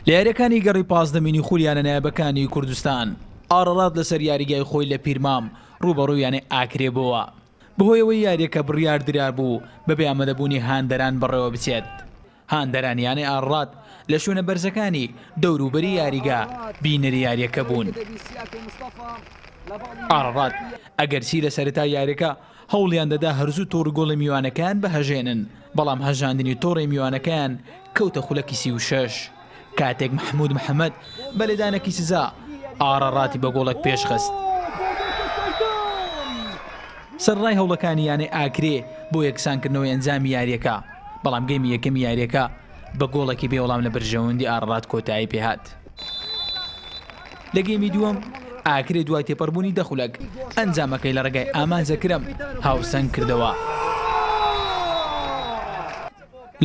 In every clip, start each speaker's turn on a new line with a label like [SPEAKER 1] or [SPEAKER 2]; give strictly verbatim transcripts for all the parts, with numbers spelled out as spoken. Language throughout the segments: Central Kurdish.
[SPEAKER 1] لە یاریەکانی گەڕی پازدەمینی خولی یانە نایابەکانی کوردستان، ئاڕەڕات لەسەر یاریگای خۆی لە پیرمام ڕووبەڕووی یانەی ئاکرێ بووە. بەهۆیەوەی یاریەکە بڕیار درابوو بەبێ ئامادەبوونی هاندەران بەڕێوە بچێت. هاندەران یانەی ئاڕەڕات لە شوێنە بەرزەکانی دەوروبەری یاریگا بینەری یاریەکە بوون. ئاڕەڕات ئەگەرچی لە سەرەتای یاریەکە هەوڵیان دەدا هەرزوو تۆڕی گۆڵی میوانەکان بەهەژێنن، بەڵام هەژاندنی تۆڕی میوانەکەیان کەوتە خولەکی سی و شەش کاتێک محەممود محەممەد بە لێدانێکی سزا ئاڕەڕاتی بە گۆڵێک پێشخست. سەرڕای هەوڵەکانی یانەی ئاکرێ بۆ یەکسانکردنەوەی ئەنجامی یاریەکە، بەڵام گەیمی یەکەمی یاریەکە بە گۆڵێکی بێوەڵام لە بەرژەوەندی ئاڕەڕات کۆتایی پێهات. لە گەیمی دووەم ئاکرێ دوای تێپەڕبوونی دە خولەک ئەنجامەکەی لە ڕێگای ئامانج ئەکرەم هاوسەنگ کردەوە.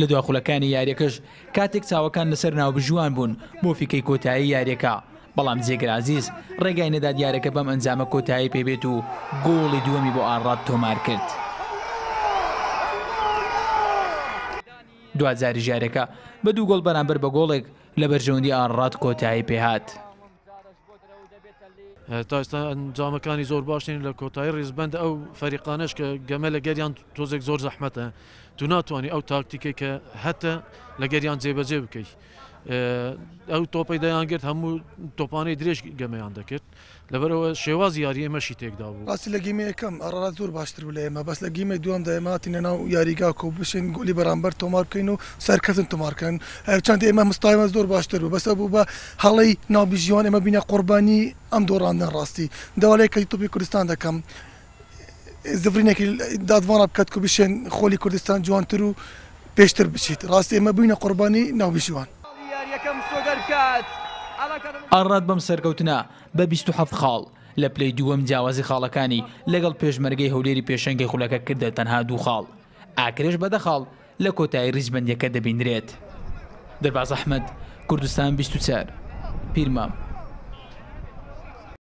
[SPEAKER 1] لە دوا خولەکانی یاریەکەش کاتێک چاوەکان لەسەر ناوبژیوان بوون بۆ فیکەی کۆتایی یاریەکە، بەڵام جێگر عەزیز ڕێگای نەدات یاریەکە بەم ئەنجامە کۆتایی پێبێت و گۆڵی دووەمی بۆ ئاڕەڕات تۆمار کرد. دواجاریش یاریەکە بە دوو گۆڵ بەرامبەر بە گۆڵێک لە بەرژەوەندی ئاڕەڕات کۆتایی پێهات.
[SPEAKER 2] تا ئێستا ئەنجامەکانی زۆر باش نین لە کۆتایی ڕیزبەند ئەو فەریقانەش کە گەمە لەگەریان تۆزێک زۆر زەحمەتە، تو ناتوانانی ئەو تاکتیکەی کە هەتە لەگەریان جێبەجێ بکەیت. ئەو تۆپەی دەیانگرت هەموو تۆپانەی درێژ گەمەیان دەکرد، لەبەرەوە شێوازی یاری ئێمەشی تێکدا بوو.
[SPEAKER 3] ڕاستی لە گیمە یەکەم ئاڕەڕات زۆر باشتر بوو لە ئێمە، بەس لە گیمەی دووەمدا ئێمە هاتینە ناو یاریگا کۆ بشین گۆلی بەرامبەر تۆمار بکەین و سەرکەوتن تۆمارکەن. هەرچەند ئێمە مستایمە زۆر باشتر بوو، بەس ئەو بوو بە هەڵەی ناوبژیوان ئێمە بینە قوربانی ئەم دۆڕاندن. ڕاستی داوا لە یەکێتی تۆپی کوردستان دەکەم زڤرینێکی دادوانە بکات کە بشێن خۆلی کوردستان جوانتر و پێشتر بچیت. ڕاستی ئێمە بووینە قوربانی ناوبژیوان.
[SPEAKER 1] ئاڕەڕات بەم سەرکەوتنە بە بیست و حەفت خاڵ لە پلەی دووەم جیاوازی خاڵەکانی لەگەڵ پێشمەرگەی هەولێری پێشەنگی خولەکە کردە تەنها دوو خاڵ. ئاکرێش بە دە خاڵ لە کۆتایی ڕیزبەندیەکە دەبیندرێت. دەرباز ئەحمەد، کوردستان بیست و چوار، پیرمام.